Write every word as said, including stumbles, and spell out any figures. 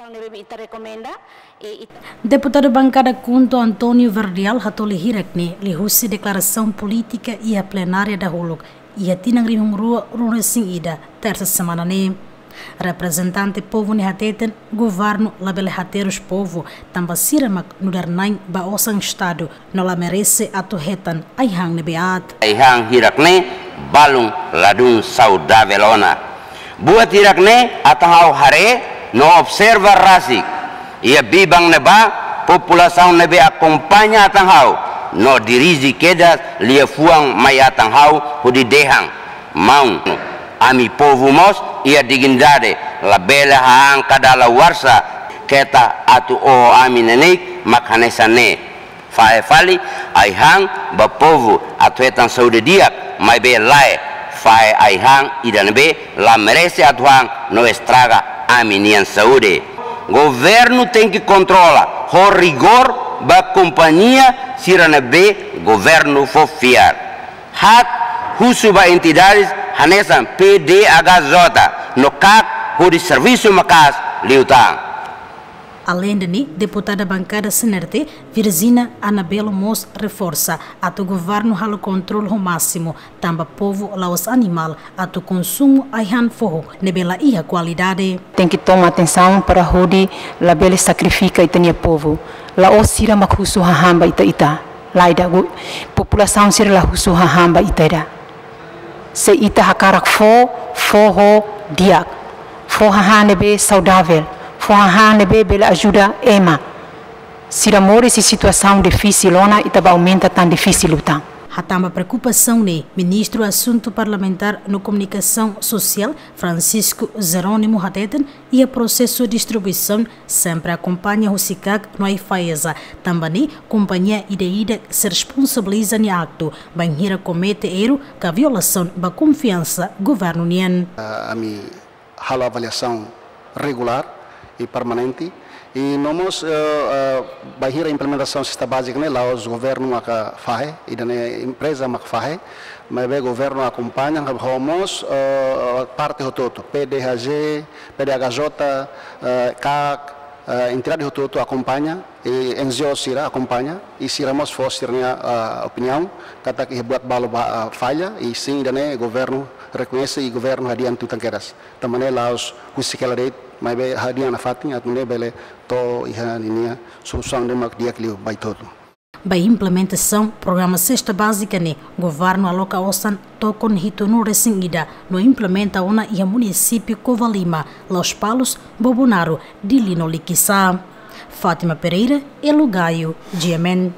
Ita rekomenda, e, it- Deputadu Bankada KHUNTO António Verdial hatoli hirak ne'e liuhusi deklarasaun polítika iha plenária dahuluk iha tinan rihun rua ruanulu-resin-ida, tersa semana ne'e. Reprezentante povu ne'e hateten, governu labele haterus povu, tanba sira mak nu'udar na'in ba osan Estadu, no la merese atu hetan ai-han ne'ebé aat. Ai-han hirak ne'e balun ladún saudavel ona. Buat hirak ne'e atan ha'u haree no observa rasik iha biban ne'ebá, populasaun ne'ebé akompaña atan ha'u no dirije kedas liafuan mai atan ha'u hodi dehan: Maun, ami povu mós iha dignidade, labele hahán ka dala warsa keta atu oho ami neineik mak hanesan ne'e. Fahe fali ai-han ba povu atu hetan saúde di'ak, maibé lae, fahe ai-han ida ne'ebé la merese atu han no estraga ami-nian saúde. Governu tenke kontrola ho rigór ba kompañia sira ne'ebé governu fó fiar. Haat husu ba entidades hanesan P D H J no kak hodi servisu maka'as liután. Aleinde ne'e, deputada bankada CNRT, Virgínia Anabelo mós reforsa atu governu halo kontrolu ho másimu, tanba povu la'ós animál atu konsumu ai-han foho ne'ebé la iha kualidade. Tenke toma atensaun para hodi labele sakrifika ita-nia povu. La'ós sira mak husu hahán ba ita-ita. Lae ida, gu-, populasaun sira la husu hahán ba ita ida. Se ita hakarak fó, fó ho di'ak. Fó hahán ne'ebé saudavel. Fó hahán ne'ebé bele ajuda ema. Sira moris iha situasaun difisil ona, ita bá aumenta tan difisil liután. Hatán ba preokupasaun ne'e, Ministru Asuntu Parlamentár no Komunikasaun Sosiál, Francisco Jerónimo, hateten, iha prosesu distribuisaun sempre akompaña husi kak no AIFAESA, tanba ne'e kompañia ida-idak sei responsabiliza nia aktu, bainhira komete erru ka violasaun ba konfiansa governu nian. Ah, ami halo avaliasaun regulár i permanente. I no mós, eh, eh, bainhira implementasaun sesta bázika ne'e, la'ós governu maka fahe, ida-ne'e empreza maka fahe, maibé governu akompaña, ho mós, eh, parte hotu-hotu, P D H J, P D H J, eh, kak, eh, entidade hotu-hotu akompaña, i N G O sira akompaña, i sira mós fó sira-nia, eh, opiniaun, katak iha buat balu ba, eh, falla, i sin ida-ne'e governu rekoñese i governu hadi'a tiha tan kedas. Tanba ne'e la'ós husik hela de'it, maibé hadi'a nafatin atu nune'e bele to'o iha ninia solusaun ne'ebé mak di'ak liu ba ita hotu. Ba implementasaun programa sesta bázika ne'e, governu aloka osan tokon hitunulu-resin-ida no implementa ona iha munisípiu Covalima, Lospalos, Bobonaro, Dili no Likisá. Fátima Pereira, Elo Gaio, G M N.